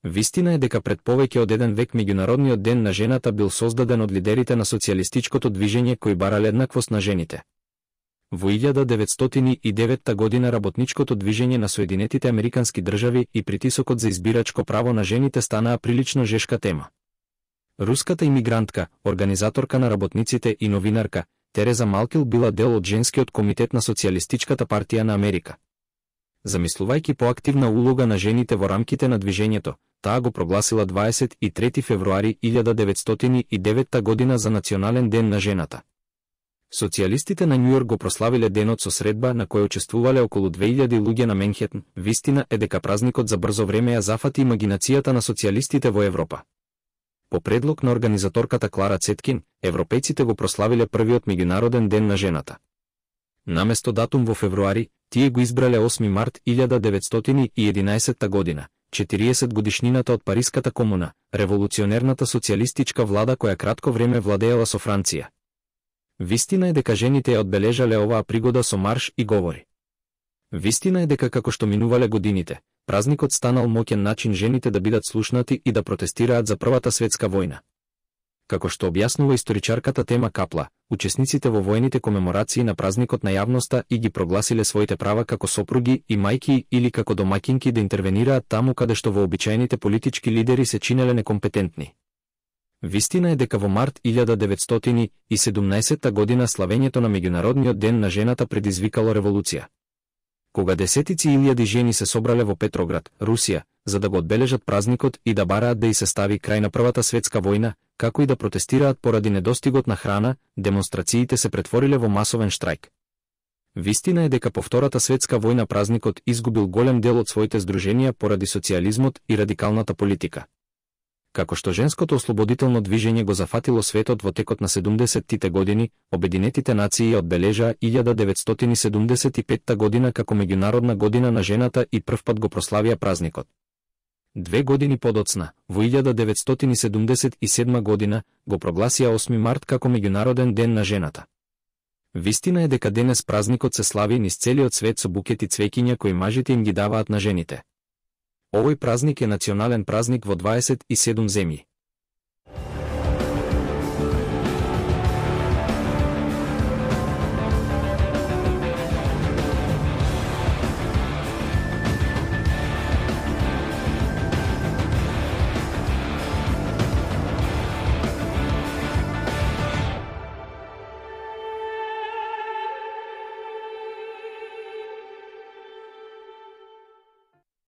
Вистина е дека пред повеќе од еден век меѓународниот ден на жената бил создаден од лидерите на социјалистичкото движење кои барале еднаквост на жените. Во 1909 година работничкото движење на Соединетите Американски држави и притисокот за избирачко право на жените станаа прилично жешка тема. Руската имигрантка, организаторка на работниците и новинарка, Тереза Малкил била дел од женскиот комитет на Социјалистичката партија на Америка. Замислувајќи поактивна улога на жените во рамките на движењето, таа го прогласила 23 февруари 1909 година за Национален ден на жената. Социјалистите на Њујорк го прославиле денот со средба на која учествувале околу 2000 луѓе на Менхетн. Вистина е дека празникот за брзо време ја зафати имагинацијата на социјалистите во Европа. По предлог на организаторката Клара Цеткин, европејците го прославиле првиот меѓународен ден на жената. Наместо датум во февруари, тие го избрале 8 март 1911 година, 40 годишнината од Париската комуна, револуционерната социјалистичка влада која кратко време владеела со Франција. Вистина е дека жените ја одбележале оваа пригода со марш и говори. Вистина е дека како што минувале годините, празникот станал моќен начин жените да бидат слушнати и да протестираат за Првата светска војна. Како што објаснува историчарката Тема Капла, учесниците во воените комеморации на празникот на јавноста и ги прогласиле своите права како сопруги и мајки или како домаќинки да интервенираат таму каде што вообичаените политички лидери се чинеле некомпетентни. Вистина е дека во март 1917 година славењето на Меѓународниот ден на жената предизвикало револуција. Кога десетици илјади жени се собрале во Петроград, Русија, за да го одбележат празникот и да бараат да ѝ се стави крај на Првата светска војна, како и да протестираат поради недостигот на храна, демонстрациите се претвориле во масовен штрајк. Вистина е дека по Втората светска војна празникот изгубил голем дел од своите здруженија поради социјализмот и радикалната политика. Како што женското ослободително движење го зафатило светот во текот на 70-тите години, Обединетите нации ја одбележаа 1975 година како меѓународна година на жената и првпат го прославија празникот. 2 години подоцна, во 1977 година, го прогласија 8 март како меѓународен ден на жената. Вистина е дека денес празникот се слави низ целиот свет со букети цвеќиња кои мажите им ги даваат на жените. Овој празник е национален празник во 27 земји.